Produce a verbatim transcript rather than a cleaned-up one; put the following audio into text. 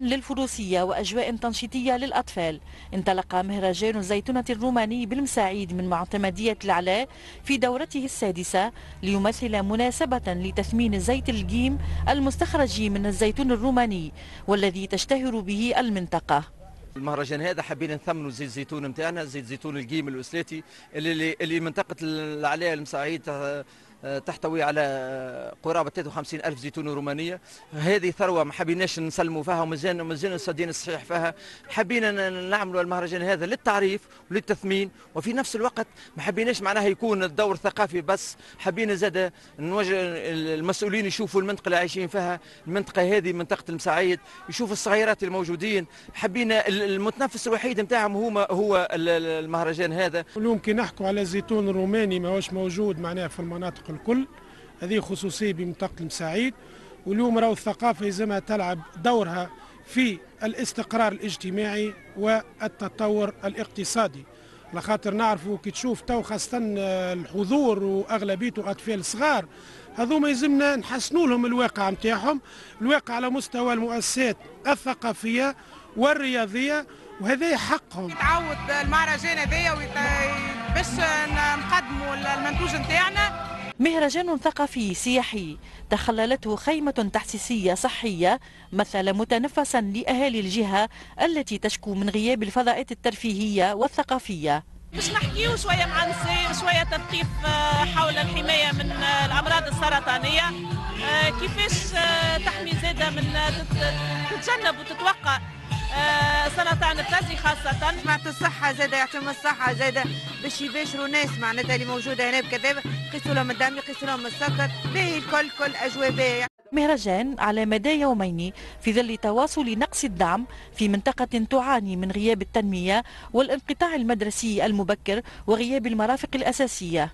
للفروسية وأجواء تنشيطية للأطفال، انطلق مهرجان الزيتونة الروماني بالمساعيد من معتمدية العلاء في دورته السادسة، ليمثل مناسبة لتثمين زيت الجيم المستخرج من الزيتون الروماني والذي تشتهر به المنطقة. المهرجان هذا حبينا نثمنوا زيت الزيتون نتاعنا، زيت زيتون الجيم الأسلاتي اللي اللي منطقة العلاء المساعيد تحتوي على قرابة ثلاثة وخمسين ألف زيتون رومانية. هذه ثروة ما حبيناش نسلموا فيها ومازلنا مازلنا صادين الصحيح فيها. حبينا نعملوا المهرجان هذا للتعريف وللتثمين، وفي نفس الوقت ما حبيناش معناها يكون الدور ثقافي بس، حبينا زاد نوجه المسؤولين يشوفوا المنطقة اللي عايشين فيها، المنطقة هذه منطقة المساعيد، يشوفوا الصغيرات الموجودين. حبينا المتنفس الوحيد نتاعهم هو هو المهرجان هذا. اليوم كي نحكوا على الزيتون الروماني ماهوش موجود معناها في المناطق الكل، هذه خصوصية بمنطقة المساعيد. واليوم راهو الثقافة يلزمها تلعب دورها في الاستقرار الاجتماعي والتطور الاقتصادي، لخاطر نعرفوا كي تشوف تو خاصة الحضور وأغلبيته أطفال صغار، هذوما يلزمنا نحسنوا لهم الواقع نتاعهم، الواقع على مستوى المؤسسات الثقافية والرياضية، وهذا حقهم. يتعود المهرجان هذايا باش نقدموا المنتوج نتاعنا. مهرجان ثقافي سياحي تخللته خيمة تحسيسية صحية مثل متنفسا لأهالي الجهة التي تشكو من غياب الفضاءات الترفيهية والثقافية. باش نحكيو شوية مع النساء، شوية تثقيف حول الحماية من الأمراض السرطانية، كيفاش تحمي زادة من تتجنب وتتوقع سرطان الثدي خاصة. معناتها الصحة زادة، يعطيهم الصحة زادة باش يباشروا ناس معناتها اللي موجودة هنا بكذا، يقيسوا لهم الدم، يقيسوا لهم السكر، باهي الكل كل أجواء باهية. مهرجان على مدى يومين في ظل تواصل نقص الدعم في منطقة تعاني من غياب التنمية والانقطاع المدرسي المبكر وغياب المرافق الأساسية.